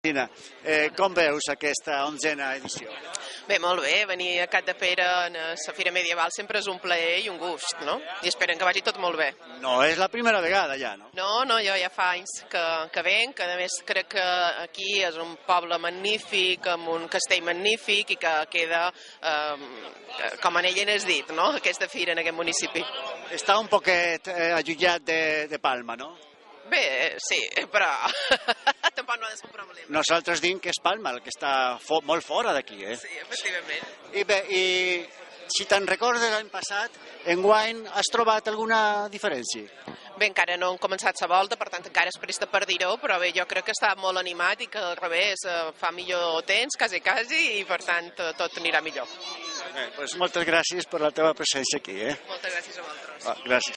Cristina, com veus aquesta 11a edició? Bé, molt bé, venir a Capdepera a la Fira Medieval sempre és un plaer i un gust, no? I esperen que vagi tot molt bé. No és la primera vegada ja, no? No, jo ja fa anys que venc, que a més crec que aquí és un poble magnífic, amb un castell magnífic i que queda, com en ell n'has dit, no? Aquesta fira en aquest municipi. Està un poquet allunyat de Palma, no? Bé, sí, però tampoc no ha de ser un problema. Nosaltres diem que és Palma, el que està molt fora d'aquí, Sí, efectivament. I bé, si te'n recordes l'any passat, enguany has trobat alguna diferència? Bé, encara no han començat la volta, per tant encara és presta per dir-ho, però bé, jo crec que està molt animat i que al revés fa millor temps, quasi, i per tant tot anirà millor. Bé, doncs moltes gràcies per la teva presència aquí. Moltes gràcies a vosaltres. Gràcies.